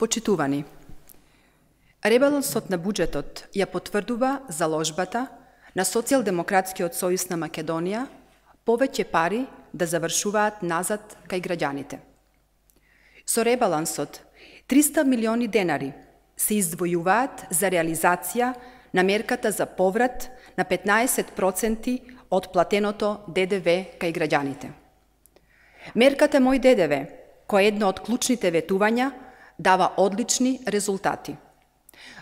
Почитувани, ребалансот на буџетот ја потврдува заложбата на Социјалдемократскиот сојуз на Македонија повеќе пари да завршуваат назад кај граѓаните. Со ребалансот 300 милиони денари се издвојуваат за реализација на мерката за поврат на 15% од платеното ДДВ кај граѓаните. Мерката Мој ДДВ, која е едно од клучните ветувања, дава одлични резултати.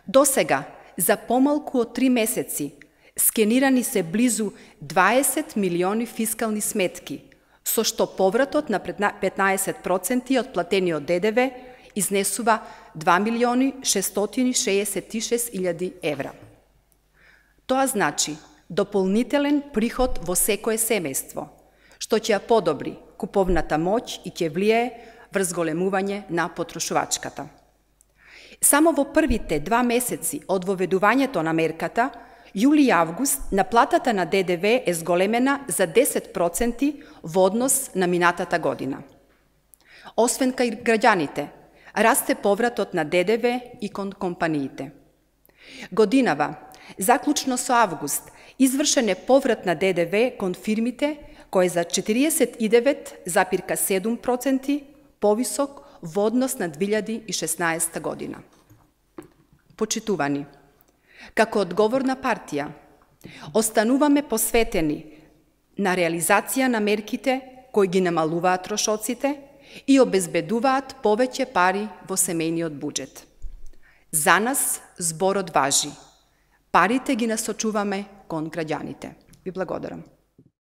Досега, за помалку од 3 месеци, скенирани се близу 20 милиони фискални сметки, со што повратот на 15% од платениот ДДВ изнесува 2.666.000 евра. Тоа значи дополнителен приход во секое семејство, што ќе ја подобри куповната моќ и ќе влијае врз големување на потрошувачката. Само во првите 2 месеци од воведувањето на мерката, јули и август, наплатата на ДДВ е зголемена за 10% во однос на минатата година. Освен кај граѓаните, расте повратот на ДДВ и кон компаниите. Годинава, заклучно со август, извршен е поврат на ДДВ кон фирмите, кој е за 49,7% повисок во однос на 2016 година. Почитувани, како одговорна партија, остануваме посветени на реализација на мерките кои ги намалуваат трошоците и обезбедуваат повеќе пари во семејниот буџет. За нас зборот важи. Парите ги насочуваме кон граѓаните. Ви благодарам.